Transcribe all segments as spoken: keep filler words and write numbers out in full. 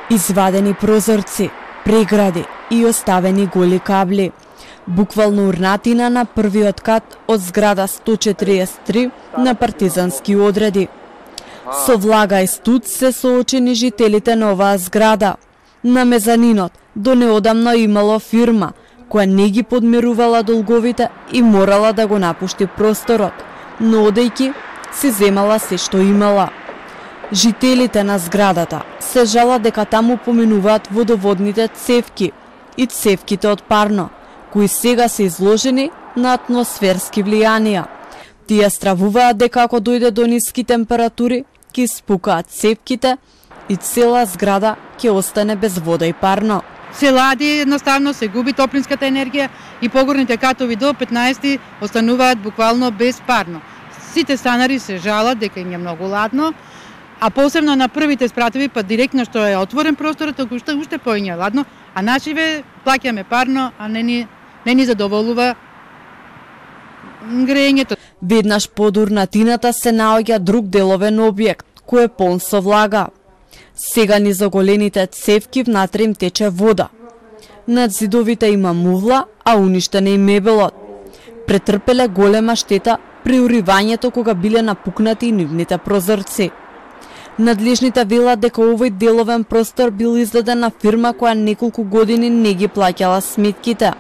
Извадени прозорци, прегради и оставени голи кабли. Буквално урнатина на првиот кат од зграда сто четириесет и три на партизански одреди. Со влага и студ се соочени жителите на оваа зграда. На мезанинот до неодамно имало фирма која не ги подмирувала долговите и морала да го напушти просторот, но одејќи си земала се што имала. Жителите на зградата се жалат дека таму поминуваат водоводните цевки и цевките од парно, кои сега се изложени на атмосферски влијанија. Тие стравуваат дека ако дојде до ниски температури, ќе спукаат цевките и цела зграда ќе остане без вода и парно. Се лади, едноставно се губи топлинската енергија и погорните катови до петнаесети остануваат буквално без парно. Сите станари се жалат дека им е многу ладно, а посебно на првите спратови, па директно што е отворен просторот, уште уште поиње ладно, а нашиве плаќаме парно, а не ни не ни задоволува грејењето. Веднаш под урнатината се наоѓа друг деловен објект, кој е полн со влага. Сега низ оголените цевки внатре им тече вода. Над зидовите има мувла, а уништен е и мебелот. Претрпеле голема штета при уривањето кога биле напукнати и нивните прозорци. Надлежните велат дека овој деловен простор бил издаден на фирма која неколку години не ги плаќала сметките.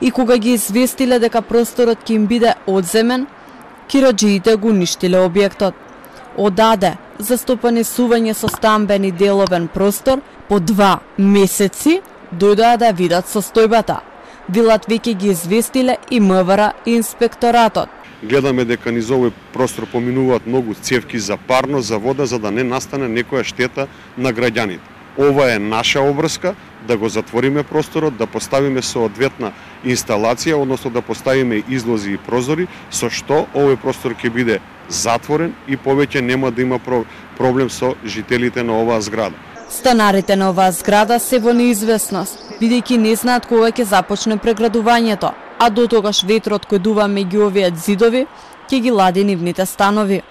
И кога ги известиле дека просторот ќе им биде одземен, кираџиите го уништиле објектот. Одаде застопанесување со стамбен и деловен простор по два месеци дојдоа да видат состојбата. Велат веќе ги известиле и МВР и инспекторатот. Гледаме дека низ овој простор поминуваат многу цевки за парно, за вода, за да не настане некоја штета на граѓаните. Ова е наша обврска да го затвориме просторот, да поставиме соодветна инсталација, односно да поставиме излози и прозори, со што овој простор ќе биде затворен и повеќе нема да има проблем со жителите на оваа зграда. Станарите на оваа зграда се во неизвестност, бидејќи не знаат кога ќе започне преградувањето, а до тогаш ветрот кој дува меѓу овие зидови ќе ги лади нивните станови.